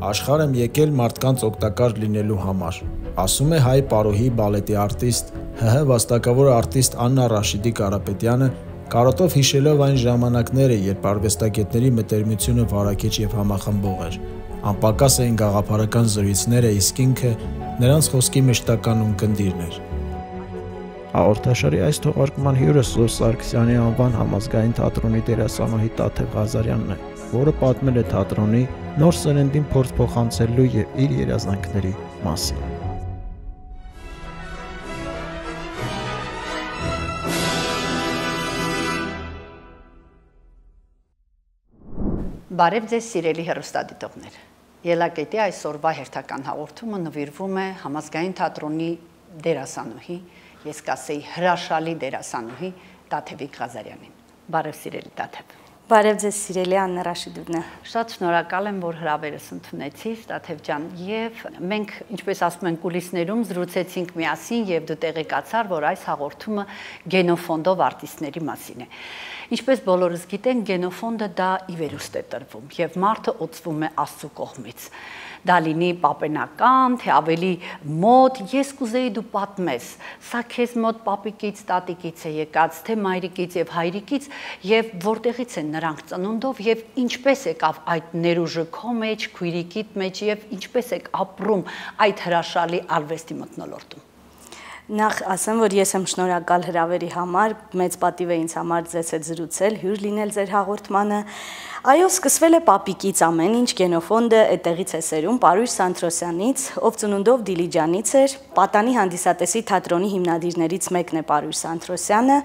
Աշխարհ եմ եկել մարդկանց օգտակար լինելու համար, ասում է հայ պարոհի բալետի արտիստ, ՀՀ վաստակավոր արտիստ Աննա Ռաշիդի Կարապետյանը, կարոտով հիշելով այն ժամանակները, երբ արվեստագետների մտերմությունը վարակիչ եւ համախմբող էր։ Անպակաս էին գաղափարական զրույցները, իսկ ինքը նրանց խոսքի մշտական ունկնդիրն էր։ Հաղորդաշարի այս թողարկման հյուրը Սուրբ Սարգսյանի անվան համազգային թատրոնի դերասանուհի Տաթև Ղազարյանն է, որը պատմել է թատրոնի նոր սերնդին փորձ փոխանցելու եւ իր երազանքների մասին։ Բարև ձեզ սիրելի հեռուստադիտողներ։ Ելակետի այսօրվա հերթական հաղորդումը նվիրվում է համազգային թատրոնի դերասանուհի, ես կասեի հրաշալի դերասանուհի Տաթև Ղազարյանին։ Բարև սիրելի Տաթև։ Բարև ձեզ սիրելի Աննա Ռաշիդովնա։ Շատ շնորհակալ եմ, որ հրավերս ընդունեցիք, Տաթև ջան, եւ մենք, ինչպես ասում են, կուլիսներում զրուցեցինք միասին եւ դու տեղեկացար, որ այս հաղորդումը գենոֆոնդով արտիստների մասին է։ Ինչպես բոլորս գիտենք, գենոֆոնդը դա ի վերուստ է տրվում եւ մարդը օծվում է Աստծո կողմից։ Դա լինի պապենական, թե ավելի մոտ, ես կուզեի դու պատմես, սա քեզ մոտ պապիկից, տատիկից է եկած, թե մայրիկից եւ հայրիկից եւ որտեղից են նրանք ծնունդով եւ ինչպես եկավ այդ ներուժը քո մեջ, քույրիկիդ մեջ եւ ինչպես եք ապրում այդ հրաշալի արվեստի մթնոլորտում։ Նախ ասեմ, որ ես եմ շնորհակալ հրավերի համար, մեծ պատիվ է ինձ համար ձեզ հետ զրուցել, հյուր լինել ձեր հաղորդմանը։ Այո, սկսվել է պապիկից ամեն ինչ, գենոֆոնդը այդտեղից է սերում, Պարույր Սանթրոսյանից, ով ծնունդով Դիլիջանից էր, Պատանի հանդիսատեսի թատրոնի հիմնադիրներից մեկն է Պարույր Սանթրոսյանը։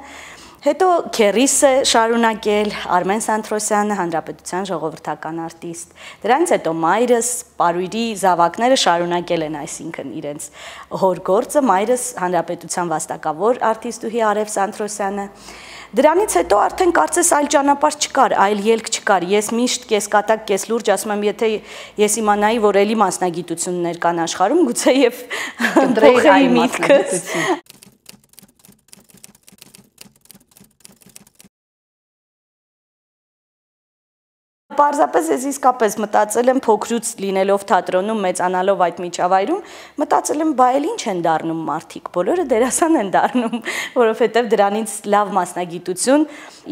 Հետո քերիս է շարունակել Արմեն Սանթրոսյանը, Հանրապետության ժողովրդական արտիստ։ Դրանից հետո մայրս Պարույրի զավակները շարունակել են, այսինքն իրենց հոր գործը, մայրս Հանրապետության վաստակավոր արտիստուհի Արև Սանթրոսյանը։ Դրանից հետո արդեն կարծես այլ ճանապարհ չկար, այլ ելք չկար։ Ես միշտ կեսկատակ, կես լուրջ ասում եմ, եթե ես իմանայի, որ էլի մասնագիտություններ կան աշխարհում, գուցե եւ փոխեի միտքս։ Պարզապես ես իսկապես մտածել եմ փոքրուց լինելով թատրոնում, մեծանալով այդ միջավայրում, մտածել եմ, բա էլ ինչ են դառնում մարդիկ, բոլորը դերասան են դառնում, որովհետև դրանից լավ մասնագիտություն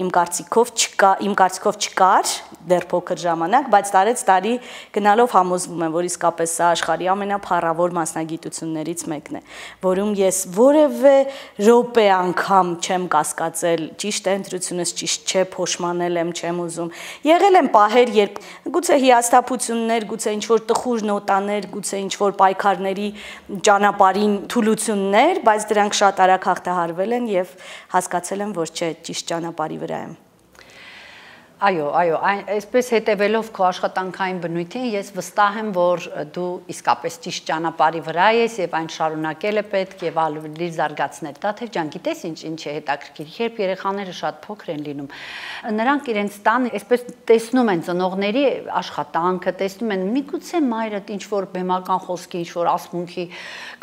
իմ կարծիքով չկար դեռ փոքր ժամանակ, բայց տարեց տարի գնալով համոզվում եմ, որ իսկապես սա աշխարհի ամենափառավոր մասնագիտություններից մեկն է, որում ես որևէ րոպե անգամ չեմ կասկածել, ճիշտ է ընտրությունս, ճիշտ չէ, փոշմանել եմ, չեմ ուզում։ Եղել եմ պահեր, երբ գուցե հիասթափություններ, գուցե ինչ-որ տխուր նոտաներ, գուցե ինչ-որ պայքարների ճանապարհին թուլություններ, բայց դրանք շատ արագ հաղթահարվել են եւ հասկացել եմ, որ չէ, ճիշտ ճանապարհի վրա եմ։ Այո, այսպես հետևելով քո աշխատանքային բնույթին, ես վստահ եմ, որ դու իսկապես ճիշտ ճանապարհի վրա ես եւ այն շարունակել է պետք եւ ավելի զարգացնել։ Տաթև ջան, գիտես ինչ է հետաքրքիր, երբ երեխաները շատ փոքր են լինում, նրանք իրենց տան այսպես տեսնում են ծնողների աշխատանքը, տեսնում են միգուցե մայրդ ինչ որ բեմական խոսքի, ինչ որ ասմունքի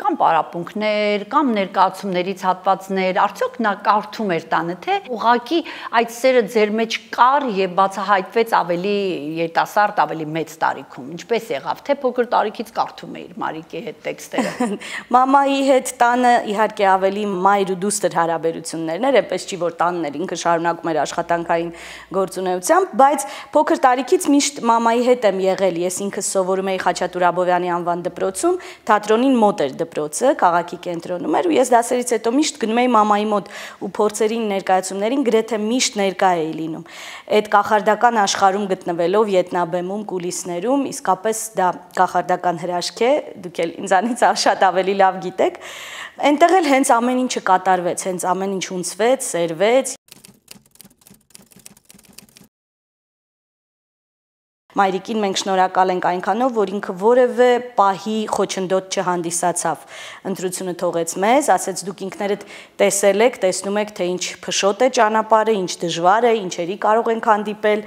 կամ պարապմունքներ, կամ ներկայացումներից հատվածներ, արդյոք նա կարդում էր տանը, թե ուղղակի այդ սերը ձեր մեջ կար եւ բացահայտվեց ավելի երիտասարդ, ավելի մեծ տարիքում։ Ինչպես եղավ, թե փոքր տարիքից կարդում էիր Մարիկի հետ տեքստերը։ Մամայի հետ տանը իհարկե ավելի մայր ու դուստր հարաբերություններն էր, այնպես չի որ տանն էր, ինքը շարունակում էր աշխատանքային գործունեությամբ, բայց փոքր տարիքից միշտ մամայի հետ եմ եղել։ Ես ինքս սովորում էի Խաչատուր Աբովյանի անվան դպրոցում, թատրոնին մոտ էր դպրոցը, քաղաքի կենտրոնում էր ու ես դասերից հետո միշտ գնում էի մամայի մոտ ու փորձերին, ներկայացումներին գրեթե միշտ ներկա էի լինում։ Այդ կախարդական աշխարհում գտնվելով ետնաբեմում, կուլիսներում, իսկապես դա կախարդական հրաշք է, դուք էլ ինձանից շատ ավելի լավ գիտեք, այնտեղ էլ հենց ամեն ինչը կատարվեց, հենց ամեն ինչ ունցվեց, սերվեց։ Մայրիկին մենք շնորհակալ ենք այնքանով, որ ինքը որևէ պահի խոչընդոտ չհանդիսացավ։ Ընտրությունը թողեց մեզ, ասեց դուք ինքներդ տեսել եք, տեսնում եք, թե ինչ փշոտ է ճանապարհը, ինչ դժվար է, ինչերի կարող ենք հանդիպել,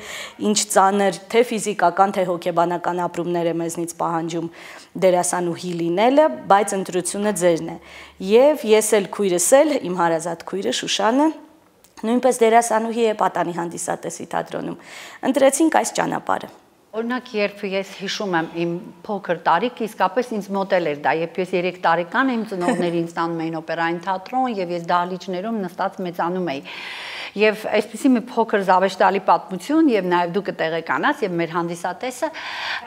ինչ ծանր, թե ֆիզիկական, թե հոգեբանական ապրումներ է մեզնից պահանջում դերասանուհի լինելը, բայց ընտրությունը ձերն է։ Եվ ես էլ քույրս էլ, իմ հարազատ քույրը Շուշանը, նույնպես դերասանուհի է Պատանի հանդիսատեսի թատրոնում։ Ընտրեցինք այս ճանապարհը։ Օրինակ, երբ ես հիշում եմ իմ փոքր տարիքը, իսկապես ինձ մոդել էր դա, երբ ես 3 տարեկան իմ ծնողները ինձ տանում էին օպերային թատրոն եւ ես դահլիճներում նստած մեծանում էի։ Եվ այսպեսի մի փոքր զավեշտալի պատմություն եւ նաեւ դու կտեղեկանաս եւ մեր հանդիսատեսը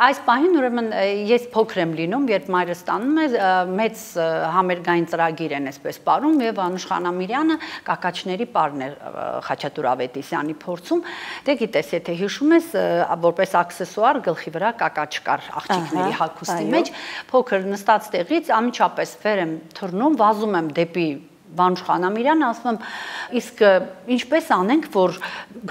այս պահին ուրեմն ես փոքր եմ լինում, երբ մայրս տանում է մեծ համերգային ծրագիր են այսպես ապարում եւ Անուշ Խանամիրյանը կակաչների պարն է Խաչատուր Ավետիսյանի փորձում։ Դե գիտես, եթե հիշում ես, որպես աքսեսուար գլխի վրա կակաչ կար աղջիկների հագուստի մեջ, փոքր նստած տեղից անմիջապես վեր եմ թռնում, վազում եմ դեպի Վանուշ Խանամիրյանը, ասում եմ, իսկ ինչպես անենք, որ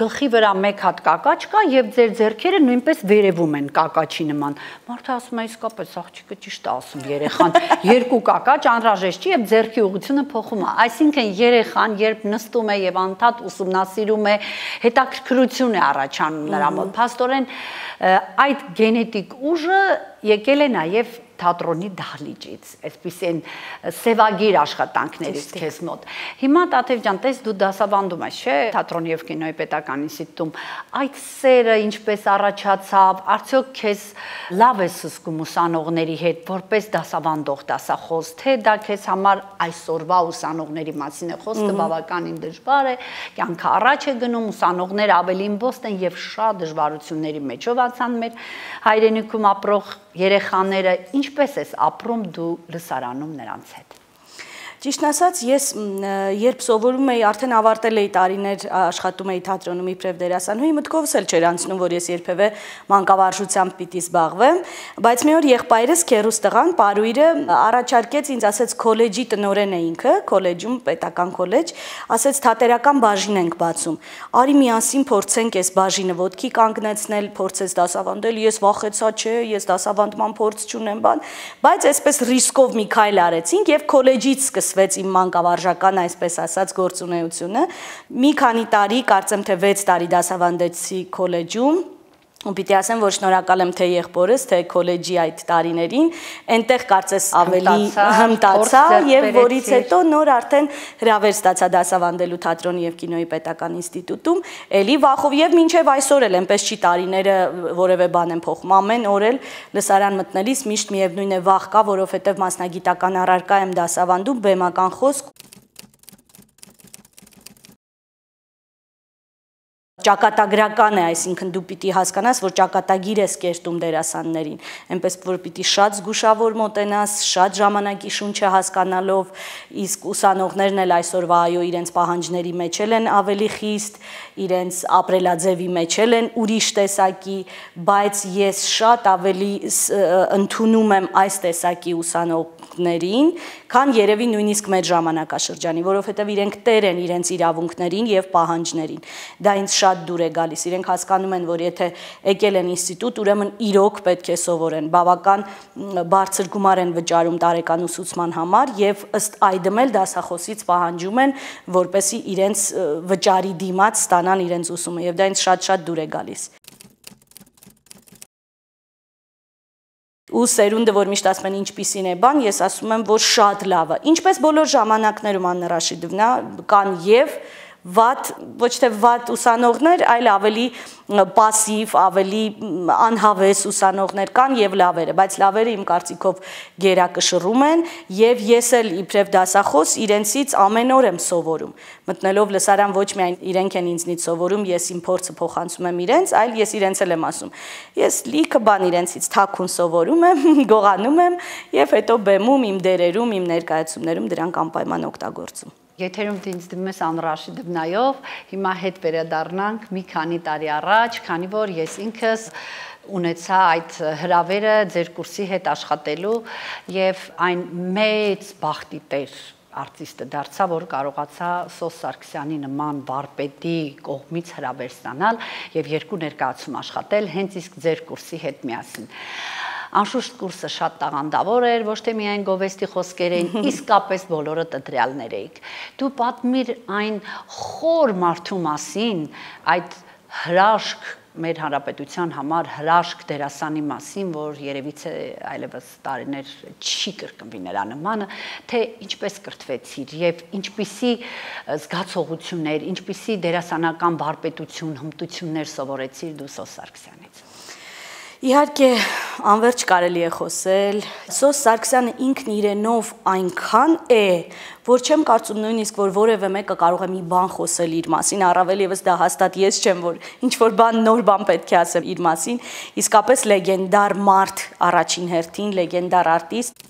գլխի վրա մեկ հատ կակաչ կա եւ ձեր ձեռքերը նույնպես վերևում են կակաչի նման։ Մարդը ասում է, իսկապես աղջիկը ճիշտ է ասում, երեխան, երկու կակաչ անհրաժեշտ չի եւ ձեռքի ուղղությունը փոխում է։ Այսինքն երեխան, երբ նստում է եւ անդադ ուսումնասիրում է, հետաքրքրություն է առաջանում նրա մոտ։ Փաստորեն այդ գենետիկ ուժը եկել է նաեւ թատրոնի դահլիճից, այսպիսին սևագիր աշխատանքներից քեզ մոտ։ Հիմա Տաթև ջան, տես դու դասավանդում ես, չէ՞, թատրոնի եւ կինոյի պետական ինստիտուտում։ Այդ սերը ինչպես առաջացավ, արդյոք քեզ լավ ես զգում ուսանողների հետ, որպես դասավանդող դասախոս, թե դա քեզ համար այսօրվա ուսանողների մասին է խոսքը բավականին դժվար է, կյանքը առաջ է գնում, ուսանողները ավելի իմբոստ են եւ շատ դժվարությունների մեջով անցան մեր հայրենիքում ապրող երեխաները, ինչպես ես ապրում դու լսարանում նրանց հետ։ Ճիշտ ասած, ես երբ սովորում էի, արդեն ավարտել էի տարիներ աշխատում էի թատրոնում իբրև դերասանուհի, մտքովս էլ չէր անցնում, որ ես երբևէ մանկավարժությամբ պիտի զբաղվեմ, բայց մի օր եղբայրս քեռուս տղան, Պարույրը առաջարկեց ինձ, ասեց քոլեջի տնօրեն է ինքը, քոլեջում, պետական քոլեջ, ասեց թատերական բաժին ենք բացում։ Արի միասին փորձենք այս բաժինը ոտքի կանգնեցնել, փորձես դասավանդել, ես վախեցա, չէ, ես դասավանդման փորձ չունեմ, բան, բայց այսպես ռիսկով մի քայլ արեցինք եւ քոլեջից սկսվեց իմ մանկավարժական, այսպես ասած, գործունեությունը։ Մի քանի տարի, կարծեմ թե 6 տարի դասավանդեցի քոլեջում։ Ու պիտի ասեմ, որ շնորհակալ եմ թե եղբորս, թե քոլեջի այդ տարիներին, այնտեղ կարծես ավելի հմտացա եւ որից հետո նոր արդեն հրավեր ստացա դասավանդելու թատրոնի եւ կինոյի պետական ինստիտուտում, էլի վախով եւ մինչեւ այսօր էլ այնպես չի տարիները որևէ բան են փոխում, ամեն օր էլ լսարան մտնելիս միշտ միևնույն է վախ կա, որովհետեւ մասնագիտական առարկա եմ դասավանդում, բեմական խոսք ճակատագրական է, այսինքն դու պիտի հասկանաս, որ ճակատագիր ես կերտում դերասաններին, այնպես որ պիտի շատ զգուշավոր մոտենաս, շատ ժամանակի շունչը հասկանալով, իսկ ուսանողներն էլ այսօրվա այո իրենց պահանջների մեջ են ավելի խիստ, իրենց ապրելաձևի մեջ են ուրիշ տեսակի, բայց ես շատ ավելի ընդունում եմ այս տեսակի ուսանողներին, քան երևի նույնիսկ մեր ժամանակաշրջանի, որովհետև իրենք տեր են իրենց իրավունքներին եւ պահանջներին։ Դա ինձ շատ դուր է գալիս, իրենք հասկանում են, որ եթե եկել են ինստիտուտ, ուրեմն իրոք պետք է սովորեն, բավական բարձր գումար են վճարում տարեկան ուսուցման համար եւ ըստ այդմ էլ դասախոսից պահանջում են, որպեսզի իրենց վճարի դիմաց ստանան իրենց ուսումը եւ դա ինձ շատ դուր է գալիս։ Ու սերունդը, որ միշտ ասում են ինչպիսին է բան, ես ասում եմ, որ շատ լավ է։ Ինչպես բոլոր ժամանակներում Աննա Ռաշիդովնա կան եւ վատ, ոչ թե վատ ուսանողներ, այլ ավելի պասիվ, ավելի անհավես ուսանողներ կան եւ լավերը, բայց լավերը իմ կարծիքով գերակշռում են եւ ես էլ իբրև դասախոս իրենցից ամեն օր եմ սովորում։ Մտնելով լսարան ոչ միայն իրենք են ինձնից սովորում, ես իմ փորձը փոխանցում եմ իրենց, այլ ես իրենց էլ եմ ասում։ Ես լիքը բան իրենցից թաքուն սովորում եմ, գողանում եմ եւ հետո բեմում, իմ դերերում, իմ ներկայացումներում դրանք անպայման օգտագործում։ Եթերում դինձ դիմում ես Աննա Ռաշիդովնայով, հիմա հետ վերադառնանք մի քանի տարի առաջ, քանի որ ես ինքս ունեցա այդ հրավերը ձեր կուրսի հետ աշխատելու եւ այն մեծ բախտի տեր արտիստը դարձա, որ կարողացա Սոս Սարգսյանի նման վարպետի կողմից հրավեր ստանալ եւ 2 ներկայացում աշխատել հենց իսկ ձեր կուրսի հետ միասին։ Անշուշտ կուրսը շատ տաղանդավոր էր, ոչ թե միայն գովեստի խոսքեր էին, իսկապես բոլորը տտրյալներ էիք։ Դու պատմիր այն խոր մարդու մասին, այդ հրաշք մեր հանրապետության համար հրաշք դերասանի մասին, որ երևիցե այլևս տարիներ չի կրկնվի նրա նմանը, թե ինչպես կրթվեցիր եւ ինչպիսի զգացողություններ, ինչպիսի դերասանական վարպետություն, հմտություններ սովորեցիր դու Սոս Սարգսյանից։ Իհարկե, անverջ կարելի է խոսել։ Սոս Սարգսյանը ինքն իրենով այնքան է, որ չեմ կարծում նույնիսկ, որ որևէ մեկը կարող է մի բան խոսել իր մասին, առավել եւս դա հաստատ ես չեմ, որ ինչ-որ բան նոր բան պետք է ասեմ իր մասին, իսկապես լեգենդար մարդ առաջին հերթին, լեգենդար արտիստ։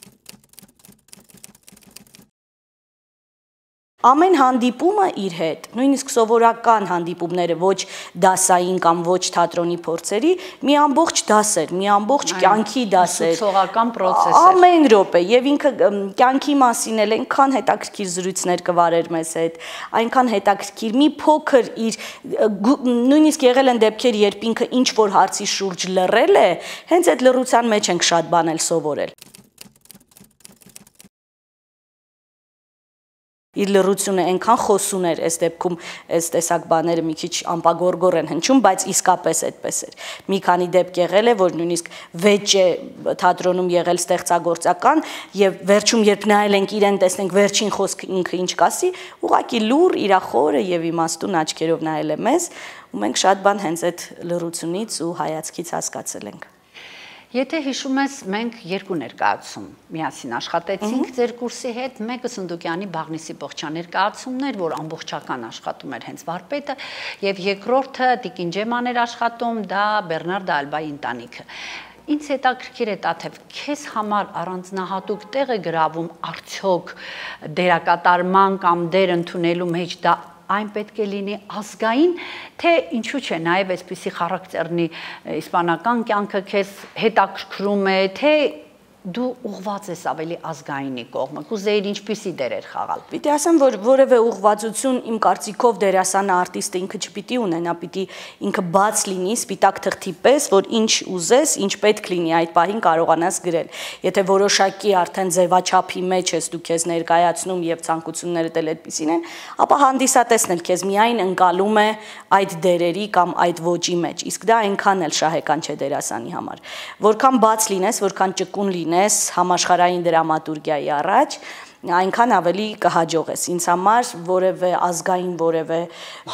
Ամեն հանդիպումը իր հետ, նույնիսկ սովորական հանդիպումները ոչ դասային կամ ոչ թատրոնի փորձերի, մի ամբողջ դաս էր, մի ամբողջ կյանքի դաս էր, ուսուցողական process էր։ Ամեն րոպե, եւ ինքը կյանքի մասին էլ այնքան հետաքրքիր զրույցներ կվարեր մեզ հետ, այնքան հետաքրքիր մի փոքր իր նույնիսկ եղել են դեպքեր, երբ ինքը ինչ որ հարցի շուրջ լռել է, հենց այդ լռության մեջ ենք շատ բան էլ սովորել։ Իր լռությունը այնքան խոսուն էր, այս դեպքում այս տեսակ բաները մի քիչ ամպագորգոր են հնչում, բայց իսկապես այդպես էր։ Մի քանի դեպք եղել է, որ նույնիսկ վեճ է թատրոնում եղել ստեղծագործական եւ վերջում երբ նայել ենք իրեն, տեսնենք վերջին խոսքը ինքը ինչ կասի, ուղղակի լուր, իր խորը եւ իմաստուն աչքերով նայել է մեզ, ու մենք շատ բան հենց այդ լռությունից ու հայացքից հասկացել ենք։ Եթե հիշում ես, մենք երկու ներկայացում միասին աշխատեցինք ձեր կուրսի հետ, մեկը Սնդուկյանի Բաղնիսի Բողջյան ներկայացումն էր, որ ամբողջական աշխատում էր հենց վարպետը, եւ երկրորդը Տիկին Ջեման էր աշխատում, դա Բեռնարդ Ալբայի ընտանիքը։ Ինձ հետաքրքիր է Տաթև, քեզ համար առանձնահատուկ տեղ է գրավում արդյոք դերակատարման կամ դեր ընդունելու մեջ դա այն պետք է լինի ազգային, թե ինչու՞ չէ, նաև այսպիսի խարակտերնի իսպանական կյանքը քեզ հետաքրքրում է, թե դու ուղղված ես ավելի ազգայինի կողմը, կուզեիր ինչպիսի դերեր խաղալ։ Պիտի ասեմ, որ որևէ ուղղվածություն իմ կարծիքով դերասանը արտիստը ինքը չպիտի ունենա, պիտի ինքը բաց լինի, սպիտակ թղթի պես, որ ինչ ուզես, ինչ պետք լինի այդ պահին կարողանաս գրել։ Եթե որոշակի արդեն ձևաչափի մեջ ես դու քեզ ներկայացնում եւ ցանկություններդ էլ այդպեսին են, ապա հանդիսատեսն էլ քեզ միայն ընկալում է այդ դերերի կամ այդ ոճի մեջ։ Իսկ դա այնքան էլ շահեկան չէ դերասանի համար։ Որքան բաց լինես, որքան ճկուն լինես համաշխարհային դրամատուրգիայի առաջ, այնքան ավելի կհաջողես։ Ինձ համար որևէ ազգային, որևէ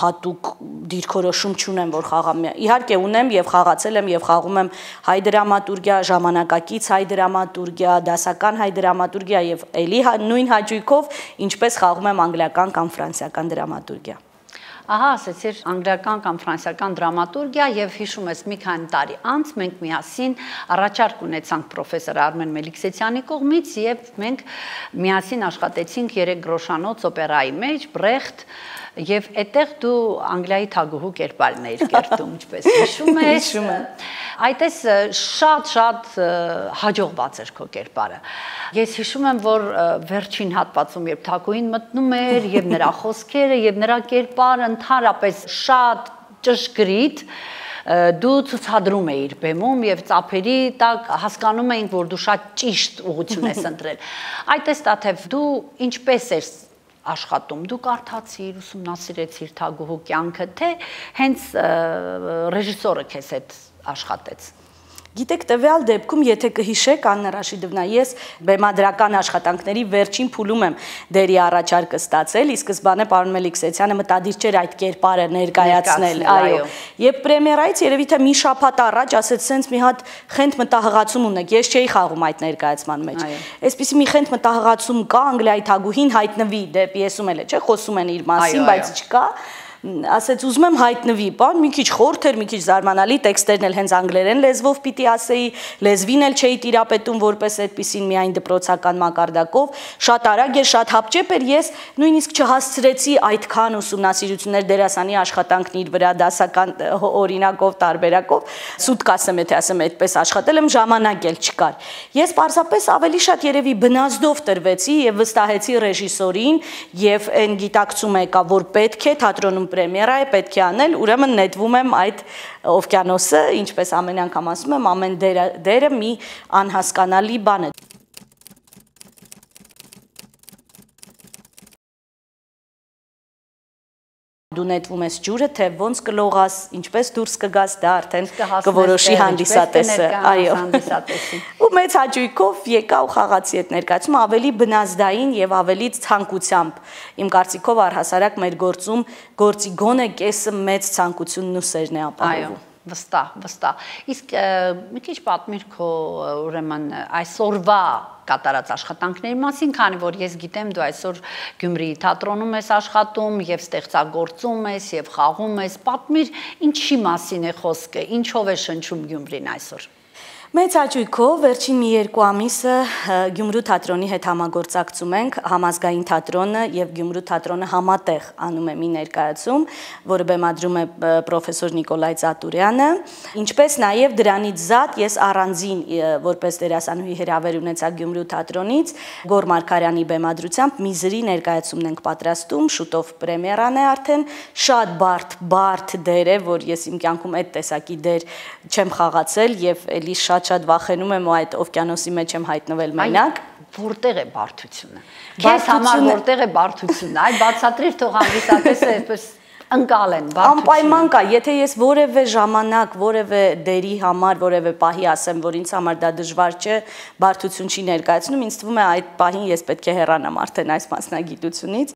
հատուկ դիրքորոշում չունեմ, որ խաղամ։ Իհարկե ունեմ եւ խաղացել եմ եւ խաղում եմ հայ դրամատուրգիա, ժամանակակից հայ դրամատուրգիա, դասական հայ դրամատուրգիա եւ ելի նույն հաճույքով, ինչպես խաղում եմ անգլիական կամ ֆրանսիական դրամատուրգիա։ Ահա, ասեցիր անգլիական կամ ֆրանսիական դրամատուրգիա եւ հիշում ես մի քանի տարի անց մենք միասին առաջարկ ունեցանք պրոֆեսոր Արմեն Մելիքսեթյանի կողմից եւ մենք միասին աշխատեցինք 3 գրոշանոց օպերայի մեջ, Բրեխտ եւ այդտեղ դու Անգլիայի թագուհու կերպարն էիր կերտում, ինչպես հիշում ես։ Հիշում եմ։ Այդպես շատ հաջողված էր քո կերպարը։ Ես հիշում եմ, որ վերջին հատվածում երբ թագուհին մտնում էր եւ նրա խոսքերը եւ նրա կերպարը ընդհանրապես շատ ճշգրիտ դու ցուցադրում էիր բեմում եւ ծափերի տակ հասկանում էինք, որ դու շատ ճիշտ ուղղություն ես ընտրել։ Այդպես Տաթև դու ինչպես ես աշխատում, դու կարդացիր, ուսումնասիրեցիր թագուհու կյանքը, թե հենց ռեժիսորը քեզ հետ աշխատեց։ Գիտեք, տվյալ դեպքում, եթե կհիշեք, Աննա Ռաշիդովնա, ես բեմադրական աշխատանքների վերջին փուլում եմ դերի առաջարկը ստացել, ի սկզբանե պարոն Մելիքսեթյանը մտադիր չէր այդ կերպարը ներկայացնել, այո։ Եվ պրեմիերայից երևի թե մի շաբաթ առաջ ասեց, սենց մի հատ խենթ մտահղացում ունեք, ես չէի խաղում այդ ներկայացման մեջ։ Այսպիսի մի խենթ մտահղացում կա, Անգլիայի թագուհին հայտնվի, դե պիեսում էլ է, չէ, խոսում են իր մասին, բայց չկա։ Ասեց ուզում եմ հայտնվի, բան մի քիչ խորթ էր, մի քիչ զարմանալի, տեքստերն էլ հենց անգլերեն լեզվով պիտի ասեի, լեզվին էլ չէի տիրապետում որպես այդպեսին միայն դպրոցական մակարդակով, շատ արագ էր, շատ հապճեպ էր, ես նույնիսկ չհասցրեցի այդքան ուսումնասիրություններ դերասանի աշխատանքն իր վրա դասական օրինակով, տարբերակով, սուտ կասեմ, եթե ասեմ այդպես աշխատել եմ, ժամանակ էլ չկար։ Ես պարզապես ավելի շատ երևի բնազդով տրվեցի եւ վստահեցի ռեժիսորին եւ այն գիտակցում եկա, որ պետք է թատրոնում պրեմիերա է, պետք է անել, ուրեմն նետվում եմ այդ օվկիանոսը, ինչպես ամեն անգամ ասում եմ, ամեն դերը մի անհասկանալի բան է։ Դու նետվում ես ջուրը, թե ոնց կլողաս, ինչպես դուրս կգաս, դա արդեն կորոշի հանդիսատեսը, այո։ Ու մեծ հաճույքով եկա ու խաղացի այդ ներկայացումը ավելի բնազդային եւ ավելի ցանկությամբ։ Իմ կարծիքով առհասարակ մեր գործում գործի գոնե կեսը մեծ ցանկությունն ու սերն է ապահովում։ Վստահ։ Իսկ մի քիչ պատմիր քո ուրեմն այսօրվա կատարած աշխատանքների մասին, քանի որ ես գիտեմ դու այսօր Գյումրիի թատրոնում ես աշխատում եւ ստեղծագործում ես եւ խաղում ես։ Պատմիր, ինչի մասին է խոսքը, ինչով է շնչում Գյումրին այսօր։ Մեծ հաճույքով վերջին մի 2 ամիսը Գյումրու թատրոնի հետ համագործակցում ենք, Համազգային թատրոնը եւ Գյումրու թատրոնը համատեղ անում է մի ներկայացում, որը բեմադրում է պրոֆեսոր Նիկոլայ Ծատուրյանը, ինչպես նաեւ դրանից զատ ես առանձին որպես դերասանուհի հրավեր ունեցա Գյումրու թատրոնից, Գոր Մարգարյանի բեմադրությամբ մի զրի ներկայացումն ենք պատրաստում, շուտով պրեմիերան է արդեն, շատ բարդ դեր է, որ ես իմ կյանքում այդ տեսակի դեր չեմ խաղացել եւ էլի շատ վախենում եմ ու այդ օվկիանոսի մեջ եմ հայտնվել մենակ։ Որտեղ է բարդությունը։ Քեզ համար որտեղ է բարդությունը։ Այ բացատրիր թող հանդիսատեսը այսպես ընկալեն բարդությունը։ Անպայման կա, եթե ես որևէ ժամանակ, որևէ դերի համար, որևէ պահի ասեմ, որ ինձ համար դա դժվար չէ, բարդություն չի ներկայացնում, ինձ թվում է այդ պահին ես պետք է հեռանամ արդեն այս մասնագիտությունից։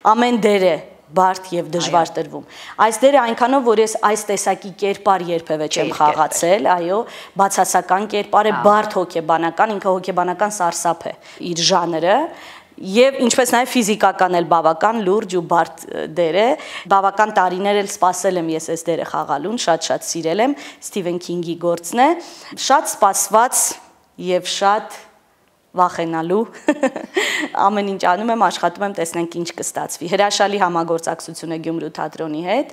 Ամեն դեր է բարդ եւ դժվար տրվում։ Այս դերը այնքանով, որ ես այս տեսակի կերպար երբևէ չեմ խաղացել, այո, բացասական կերպար է, բարդ հոգեբանական, ինքը հոգեբանական սարսափ է իր ժանրը, եւ ինչպես նաեւ ֆիզիկական էլ բավական լուրջ ու բարդ դեր է, բավական տարիներ էլ սպասել եմ ես այս դերը խաղալուն, շատ սիրել եմ, Սթիվեն Քինգի գործն է, շատ սպասված եւ շատ վախենալու ամեն ինչ անում եմ, աշխատում եմ, տեսնենք ինչ կստացվի։ Հրաշալի համագործակցություն է Գյումրու թատրոնի հետ։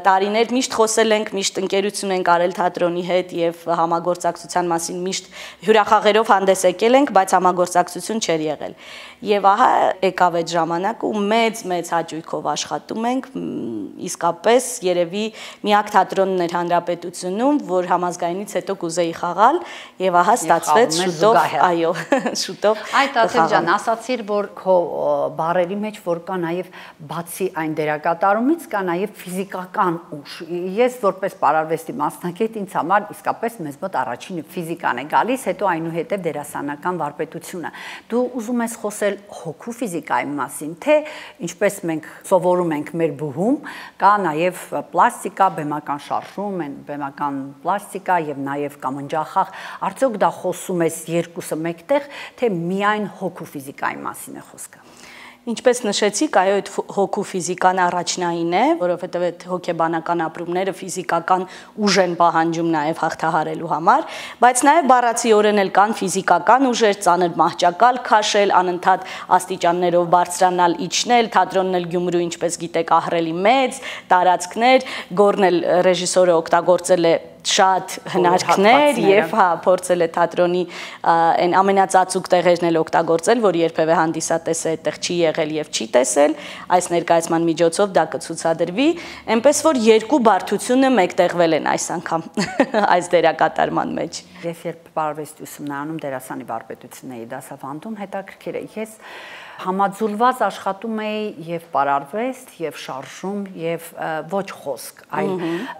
Տարիներ միշտ խոսել ենք, միշտ ընկերություն ենք արել թատրոնի հետ եւ համագործակցության մասին միշտ հյուրախաղերով հանդես եկել ենք, բայց համագործակցություն չէր եղել։ Եվ ահա եկավ այդ ժամանակը ու մեծ հաճույքով աշխատում ենք, իսկապես երևի միակ թատրոնն էր հանրապետությունում, որ համազգայինից հետո կուզեի խաղալ եւ ահա ստացվեց շուտով, այո, շուտով։ Այդ Աթև ջան, ասացիր, որ քո բարերի մեջ որ կա նաեւ բացի այն դերակատարումից կա նաեւ ֆիզիկական ուժ։ Ես որպես պարարվեստի մասնակից ինձ համար իսկապես մեզ մոտ առաջինը ֆիզիկան է գալիս, հետո այնուհետեւ դերասանական վարպետությունը։ Դու ուզում ես խոսել հոգու ֆիզիկայի մասին, թե ինչպես մենք սովորում ենք մեր բուհում, կա նաև պլաստիկա, բեմական շարժում, բեմական պլաստիկա եւ նաև կամնջախաղ, արդյոք դա խոսում ես երկուսը մեկտեղ, թե միայն հոգու ֆիզիկայի մասին է խոսքը։ Ինչպես նշեցիք, այո, այդ հոգու ֆիզիկան առաջնային է, որովհետև այդ հոգեբանական ապրումները ֆիզիկական ուժ են պահանջում նաև հաղթահարելու համար, բայց նաև բառացիորեն էլ կան ֆիզիկական ուժեր, ծանր մահճակալ քաշել, անընդհատ աստիճաններով բարձրանալ, իջնել, թատրոնն էլ Գյումրու, ինչպես գիտեք, ահռելի մեծ տարածքներ, Գորն էլ ռեժիսորը օգտագործել է շատ հնարքներ եւ փորձել է թատրոնի այն ամենածածուկ տեղերն էլ օգտագործել, որ երբևէ հանդիսատեսը այդտեղ չի եղել եւ չի տեսել, այս ներկայացման միջոցով դա կցուցադրվի, այնպես որ երկու բարդությունը մեկտեղվել են այս անգամ այս դերակատարման մեջ։ Ես երբ պարարվեստի ուսումնարանում դերասանի վարպետությունն էի դասավանդում, հետաքրքիր է, ես համաձուլված աշխատում էի եւ պարարվեստ, եւ շարժում, եւ ոչ խոսք, այլ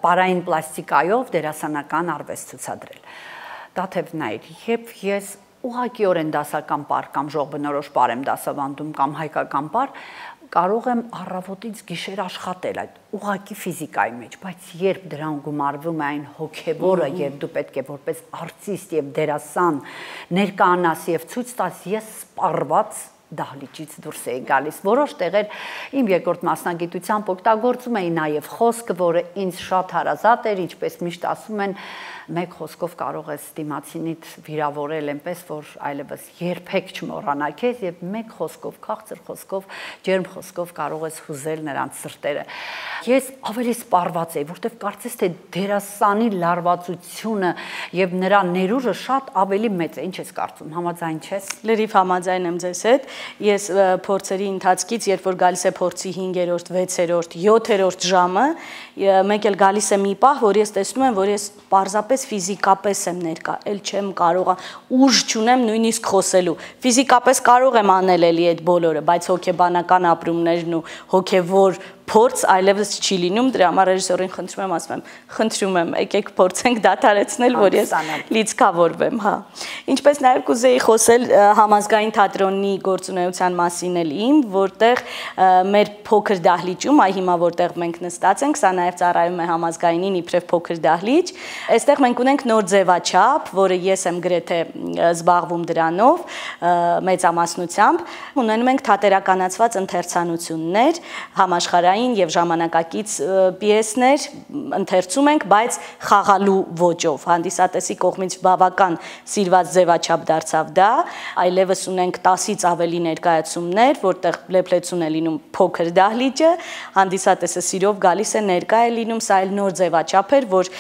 պարային պլաստիկայով դերասանական արվեստ ցուցադրել։ Դաթևն էր, երբ ես ուղղակիորեն դասական պար կամ ժողովբնորոշ պար եմ դասավանդում կամ հայկական պար, կարող եմ առավոտից գիշեր աշխատել այդ ուղղակի ֆիզիկայի մեջ, բայց երբ դրան գումարվում է այն հոգևորը եւ դու պետք է որպես արտիստ եւ դերասան ներկայանաս եւ ցույց տաս, ես սպառված դահլիճից դուրս էի գալիս։ Որոշ տեղեր իմ երկրորդ մասնագիտությամբ օգտագործում էի նաև խոսքը, որը ինձ շատ հարազատ էր, ինչպես միշտ ասում են, մեկ խոսքով կարող ես դիմացինիդ վիրավորել այնպես, որ այլևս երբեք չմոռանա քեզ եւ մեկ խոսքով, քաղցր խոսքով, ջերմ խոսքով կարող ես հուզել նրանց սրտերը։ Ես ավելի սպառված էի, որտեվ կարծես թե դերասանի լարվածությունը եւ նրա ներուժը շատ ավելի մեծ է։ Ինչ ես կարծում, համաձայն չես։ Լրիվ համաձայն եմ ձեզ հետ։ Ես փորձերի ընթացքից, երբ որ գալիս է փորձի 5-րդ, 6-րդ, 7-րդ ժամը, մեկ էլ գալիս է մի պահ, որ ես տեսնում եմ, որ ես պարզապես ֆիզիկապես եմ ներկա, էլ չեմ կարող, ուժ չունեմ նույնիսկ խոսելու։ Ֆիզիկապես կարող եմ անել էլի այդ բոլորը, բայց հոգեբանական ապրումներն ու հոգևոր փորձ այլևս չի լինում, դրա համար ռեժիսորին խնդրում եմ, ասում եմ, խնդրում եմ, եկեք փորձենք դադարեցնել, որ ես լիցքավորվեմ, հա։ Ինչպես նաև կուզեի խոսել համազգային թատրոնի գործունեության մասին էլ իմ, որտեղ մեր փոքր դահլիճում, այ հիմա որտեղ մենք նստած ենք, սա նաև ծառայում է համազգայինին իբրև փոքր դահլիճ, այստեղ մենք ունենք նոր ձևաչափ, որը ես եմ գրեթե զբաղվում դրանով մեծամասնությամբ, ունենում ենք թատերականացված ընթերցանություններ, համաշխարհային եւ ժամանակակից պիեսներ ընթերցում ենք, բայց խաղալու ոճով, հանդիսատեսի կողմից բավական սիրված ձևաչափ դարձավ դա, այլևս ունենք 10-ից ավելի ներկայացումներ, որտեղ լեփլեցուն է լինում փոքր դահլիճը, հանդիսատեսը սիրով գալիս է ներկա է լինում, սա էլ նոր ձևաչափ էր, որ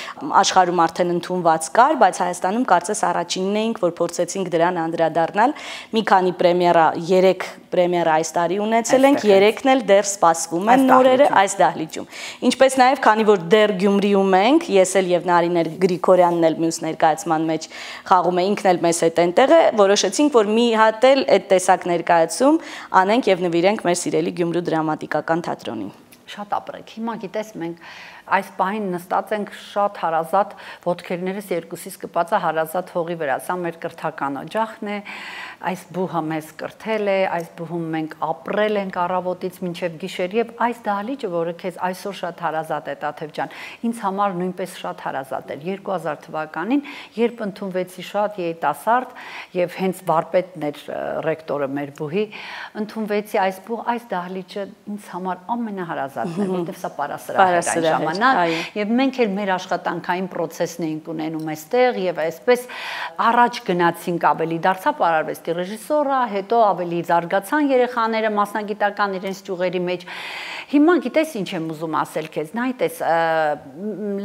աշխարհում արդեն ընդունված կար, բայց Հայաստանում կարծես առաջինն էինք, որ փորձեցինք դրան անդրադառնալ, մի քանի պրեմիերա, 3 պրեմիերա այս տարի ունեցել ենք, 3-ն էլ դեռ սպասվում են նորերը այս դահլիճում։ Ինչպես նաև, քանի որ դեռ Գյումրիում ենք, ես էլ եւ Նարինե Գրիգորյանն էլ մյուս ներկայացման մեջ խաղում է, ինքն էլ մեզ հետ այնտեղ է, որոշեցինք, որ մի հատ էլ այդ տեսակ ներկայացում անենք եւ նվիրենք մեր սիրելի Գյումրու դրամատիկական թատրոնին։ Շատ ապրեք։ Հիմա գիտես մենք այս պահին նստած ենք շատ հարազատ, ոտքերներս երկուսից կպած է հարազատ հողի վրա, սա մեր կրթական օջախն է, այս բուհը մեզ կրթել է, այս բուհում մենք ապրել ենք առավոտից մինչև գիշեր եւ այս դահլիճը, որը քեզ այսօր շատ հարազատ է Տաթև ջան, ինձ համար նույնպես շատ հարազատ էր 2000 թվականին, երբ ընդունվեցի շատ երիտասարդ եւ հենց վարպետն էր ռեկտորը մեր բուհի, ընդունվեցի այս բուհ, այս դահլիճը ինձ համար ամենահարազատն է, որտեղ սա պարասրահ էր եւ մենք էլ մեր աշխատանքային process-ն էինք ունենում այստեղ եւ այսպես առաջ գնացինք ավելի դարձա պարարվեստի ռեժիսորը, հետո ավելի զարգացան երեխաները մասնագիտական իրենց ճյուղերի մեջ։ Հիմա գիտես ինչ եմ ուզում ասել քեզ, նայտես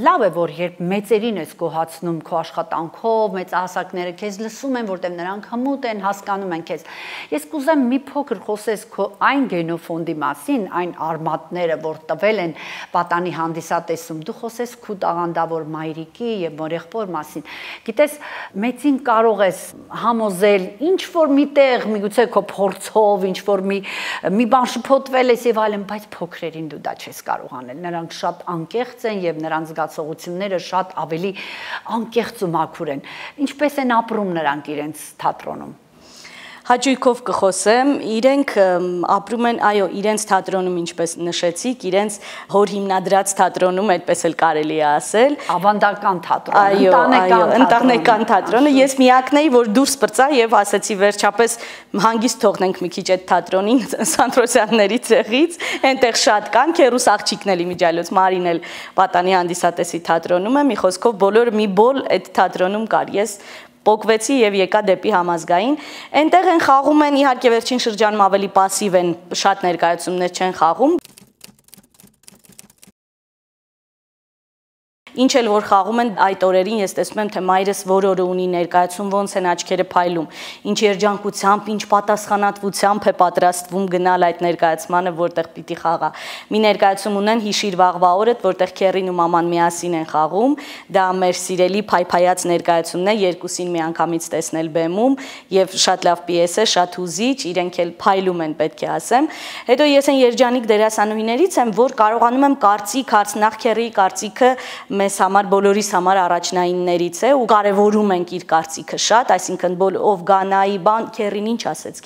լավ է որ երբ մեծերին ես գոհացնում քո աշխատանքով, մեծահասակները քեզ լսում են, որտեղ նրանք հմուտ են, հասկանում են քեզ։ Ես կուզեմ մի փոքր խոսես քո այն գենոֆոնդի մասին, այն արմատները, որ տվել են պատանի հանդիսատեսում, դու խոսես քու տաղանդավոր մայրիկի եւ մորեղբոր մասին։ Գիտես, մեծին կարող ես համոզել ինչ որ միտեղ, միգուցե քո փորձով, ինչ որ մի բան շփոթվել ես եւ այլն, բայց փոքրերին դու դա չես կարող անել։ Նրանք շատ անկեղծ են եւ նրանց զգացողությունները շատ ավելի անկեղծ ու մաքուր են։ Ինչպես են ապրում նրանք իրենց թատրոնում։ Հաճույքով կխոսեմ, իրենք ապրում են, այո, իրենց թատրոնում, ինչպես նշեցիք, իրենց հոր հիմնադրած թատրոնում, այդպես էլ կարելի է ասել, ավանդական թատրոն, ընտանեկան թատրոնը, ես միակն էի, որ դուրս պրծա եւ ասեցի վերջապես հանգիստ թողնենք մի քիչ այդ թատրոնին Սանտրոսյանների ցեղից, այնտեղ շատ կան, քերուս աղջիկն էլ իմիջիալոց Մարին էլ պատանի հանդիսատեսի թատրոնում է, մի խոսքով բոլորը մի բոլ այդ թատրոնում կար, ես պոկվեցի եւ եկա դեպի համազգային, այնտեղ են խաղում են, իհարկե վերջին շրջանում ավելի պասիվ են, շատ ներկայացումներ չեն խաղում, Ինչ էլ որ խաղում են այդ օրերին, ես տեսնում եմ, թե մայրս որ օրը ունի ներկայացում, ոնց են աչքերը փայլում, ինչ երջանկությամբ, ինչ պատասխանատվությամբ է պատրաստվում գնալ այդ ներկայացմանը, որտեղ պիտի խաղա։ Մի ներկայացում ունեն հիշիր վաղվա օրդ, որտեղ քերին ու մաման միասին են խաղում, դա մեր սիրելի փայփայած ներկայացումն է, երկուսին միանգամից տեսնել բեմում եւ շատ լավ պիես է, շատ հուզիչ, իրենք էլ փայլում են, պետք է ասեմ։ Հետո ես այն երջանիկ դերասանուհիներից եմ, որ կարողանում եմ կարծիք հարցնախ քերի կարծիքը մեզ համար բոլորիս համար առաջնայիններից է ու կարևորում ենք իր կարծիքը շատ, այսինքն ով գանայի բան քերին ինչ ասեց,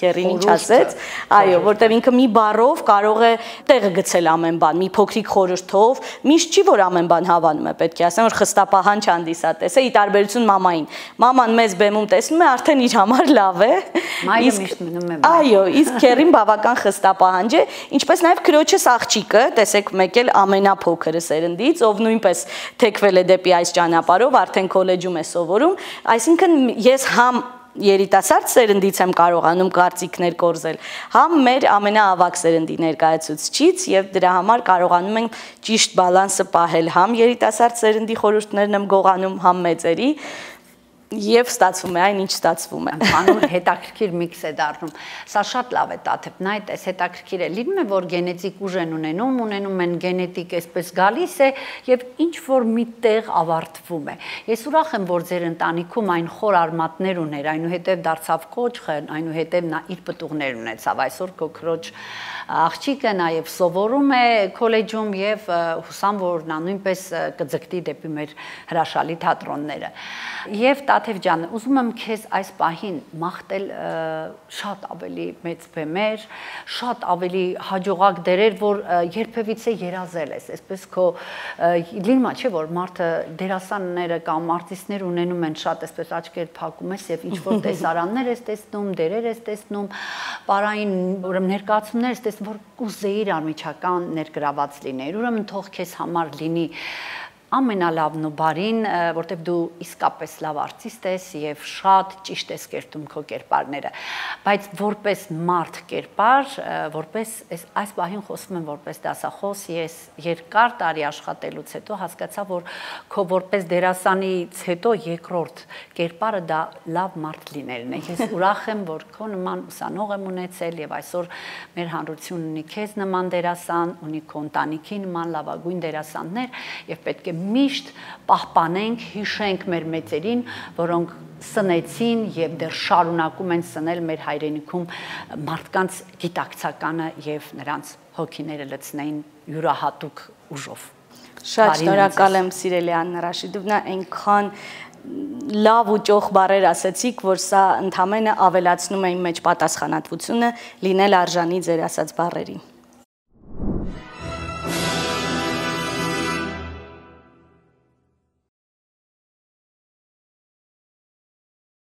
այո, որտեղ ինքը մի բառով կարող է տեղը գցել ամեն բան, մի փոքրիկ խորհրդով, միշտ չի որ ամեն բան հավանում է, պետք է ասեմ, որ խստապահանջ հանդիսատես է, ի տարբերություն մամային։ Մաման մեզ բեմում տեսնում է, արդեն իր համար լավ է։ Մայրը միշտ մնում է։ Այո, իսկ քերին բավական խստապահանջ է, ինչպես նաև քրոջս աղջիկը, տեսեք, մեկ էլ ամենափոքրը սերնդից, ով նույնպես թեքվել է դեպի այս ճանապարհով, արդեն քոլեջում է սովորում, այսինքն ես համ երիտասարդ սերնդից եմ կարողանում կարծիքներ կորզել, համ մեր ամենաավագ սերնդի ներկայացուցիչից եւ դրա համար կարողանում ենք ճիշտ բալանսը պահել, համ երիտասարդ սերնդի խորհուրդներն եմ գողանում, համ մեծերի, Եվ ստացվում է այն, ինչ ստացվում է։ Անուր հետաքրքիր միքս է դառնում։ Սա շատ լավ է Տաթև, նայ, այս հետաքրքիր է։ Լինում է, որ գենետիկ ուժ են ունենում են գենետիկ այսպես գալիս է եւ ինչ որ միտեղ ավարտվում է։ Ես ուրախ եմ, որ ձեր ընտանիքում այն խոր արմատներ ուներ, այնուհետև դարձավ կոճղ, այնուհետև նա իր պտուղներ ունեցավ։ Այսօր քոքրոջ աղջիկը նաև սովորում է քոլեջում եւ հուսամ, որ նա նույնպես կձգտի դեպի մեր հրաշալի թատրոնները։ Եվ Տաթև ջան, ուզում եմ քեզ այս պահին մաղթել շատ ավելի մեծ բեմեր, շատ ավելի հաջողակ դերեր, որ երբևիցե երազել ես, այսպես քո լինում է, չէ՞ որ մարդը դերասանները կամ արտիստներ ունենում են շատ այսպես աչքեր փակում ես եւ ինչ որ տեսարաններ ես տեսնում, դերեր ես տեսնում, պարային ուրեմն ներկայացումներ ես տեսնում, որ կուզեիր անմիջական ներգրաված լինեիր, ուրեմն թող քեզ համար լինի ամենալավն ու բարին, որտեղ դու իսկապես լավ արտիստ ես եւ շատ ճիշտ ես կերտում քո կերպարները, բայց որպես մարդ կերպար, որպես այս պահին խոսում եմ որպես դասախոս, ես երկար տարի աշխատելուց հետո հասկացա, որ քո որպես դերասանից հետո երկրորդ կերպարը դա լավ մարդ լինելն է։ Ես ուրախ եմ, որ քո նման ուսանող եմ ունեցել եւ այսօր մեր հանրությունն ունի քեզ նման դերասան, ունի քո ընտանիքի նման լավագույն դերասաններ եւ պետք է միշտ պահպանենք, հիշենք մեր մեծերին, որոնք սնեցին եւ դեռ շարունակում են սնել մեր հայրենիքում մարդկանց գիտակցականը եւ նրանց հոգիները լցնեին յուրահատուկ ուժով։ Շատ շնորհակալ եմ սիրելի Աննա Ռաշիդովնա, այնքան լավ ու ճոխ բառեր ասացիք, որ սա ընդհանրապես ավելացնում է իմ մեջ պատասխանատվությունը լինել արժանի ձեր ասած բառերին։